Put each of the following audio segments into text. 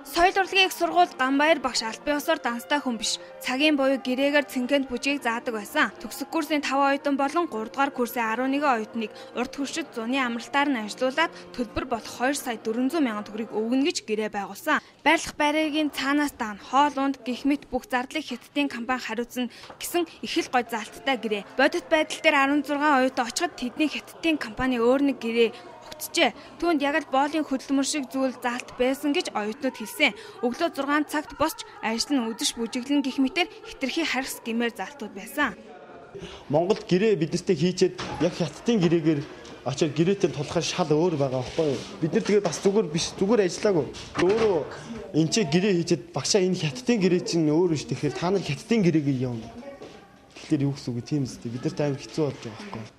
Соёл урлагийн их сургуульд Ганбаяр багш аль биесээр данстай хүн биш. Цагийн буюу гэрээгээр цэнгэнд бүжгийг заадаг байсан. Төгсөх курсын 5 оюутан болон 3 дугаар курсын 11 оюутныг урд хуршид зуны амралтаар нь ажилуулад төлбөр болох 2 сая 400 мянган төгрөгийг өгнө гэж гэрээ байгуулсан. Байрлах байрын цаанаас даана хоол унд гэх мэт бүх зардлыг Хятадын компани хариуцна гэсэн их л гой залттай гэрээ. Бодит байдал дээр 16 оюутан очиход тэдний Хятадын компани өөр нэг гэрээ Түүнд яг л боолын хөдөлмөр шиг зүйл заалт байсан гэж оюутнууд хэлсэн. Өглөө 6 цагт босч ажил нь үдэш бүжиглэн гэх мэтээр хитрхи харьс гэмээр заалтууд байсан. Монголд гэрээ биднэртэй хийчээд яг Хятадын гэрээгээр очоод гэрээтэй тулахаар шал өөр байгаа байхгүй юу? Бид нар тэгээд бас зүгээр ажиллаагүй. Өөрөө энэ ч гэрээ хийчээд багшаа энэ Хятадын гэрээ чинь өөр биш тэгэхээр та нар Хятадын гэрээгээ явна. Тэгэхээр юу гэсэн үг тийм үстэй. Бид нарт амар хэцүү болж байгаа байхгүй юу?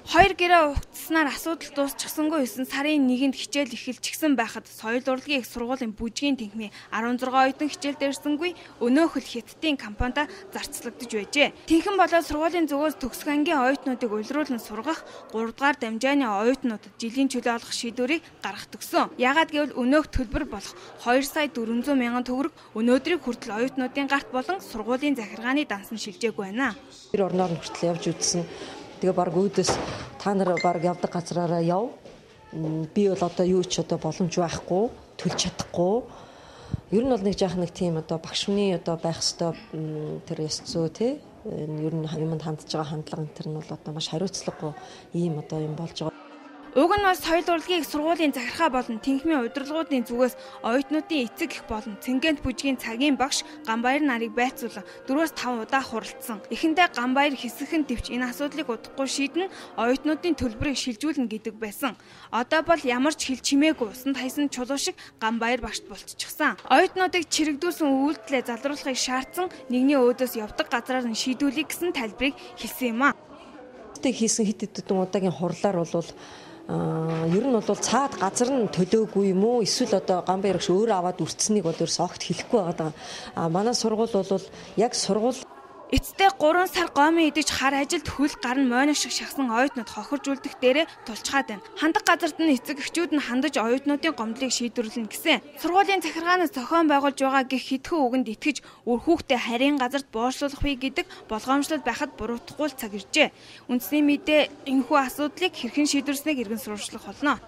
Хоёр гэрээ угтснаар асуудал дуусчихсангүй 9 сарын 1-нд хичээл эхэлчихсэн байхад соёл урлагийн их сургуулийн бүжгийн тэнхмийн 16 оюутан хичээл дээрсэнгүй өнөөхөл Хятадын компанид зарцлагдж байжээ. Тэнхэн болоод сургуулийн зүгээс төгсөх ангийн оюутнуудыг улируулан сургах 3 дугаар дамжааны оюутнуудад жилийн чөлөө олох шийдвэрийг гаргах төгсөн. Яагаад гэвэл өнөөх төлбөр болох 2 сая 400 мянган төгрөг өнөөдрийг хүртэл оюутнуудын гарт болон сургуулийн захиргааны дансан шилжээгүй байна. Тэр орноор нь хүртэл явж үзсэн. Тэгээ баг өөдөөс та нар баг явдаг газраараа яв. Би бол одоо юу ч одоо боломж байхгүй, төлж чадахгүй. Ер нь бол нэг жаах нэг тийм одоо багш хүний одоо байх хэвээр тэр ёс зүй тий. Ер нь юмд хандж байгаа хандлага энэ нь бол одоо маш хариуцлагагүй ийм одоо юм болж байгаа. Уг нь бас соёл урлагийн их сургуулийн захиргаа болон тэнхмийн удирдлагуудын зүгээс оюутнуудын эцэг их болон цэнгэнт бүжгийн цагийн багш Ганбаяр нарыг байцуулан 4-5 удаа хуралдсан. Эхэндээ Ганбаяр хэсэгхэн төвч энэ асуудлыг удахгүй шийдэн оюутнуудын төлбөрийг шилжүүлнэ гэдэг байсан. Одоо бол ямар ч хэл чимээгүй усанд хайсан чулуу шиг Ганбаяр багшд болчихсон. Оюутнуудыг чирэгдүүлсэн үйлдэлээ залруулахыг шаардсан нэгний өөдөөс явдаг газраар нь шийдүүлэх гэсэн тайлбарыг хэлсэн юм а. Хийсэн хэд хэдэн удаагийн хурлаар бол ер нь бол цаад газар нь төлөөгүй юм уу эсвэл одоо Ганбаяр багш өөрөө аваад үрцсэнийг бол ерөөс огт хэлэхгүй байгаа. Манай сургууль бол яг сургууль эцтэй 3 сар гомын идэж хар ажилд хөл гарн мойног шиг шахсан оюутнууд хохирж үлдэх дээрээ тулчгаад байна. Хандаг газарт нь эцэг эхчүүд нь хандаж оюутнуудын гомдлыг шийдвэрлэнэ гэсэн. Сургуулийн захиргаанаас зохион байгуулж байгаа гэх хитгэн үгэнд итгэж үр хүүхдээ харийн газарт боочлуулах вэ гэдэг болгоомжлол байхад буруутахгүй цаг иржээ. Үндэсний мэдээ энэхүү асуудлыг хэрхэн шийдвэрлэснийг иргэн сурвалжлах болно.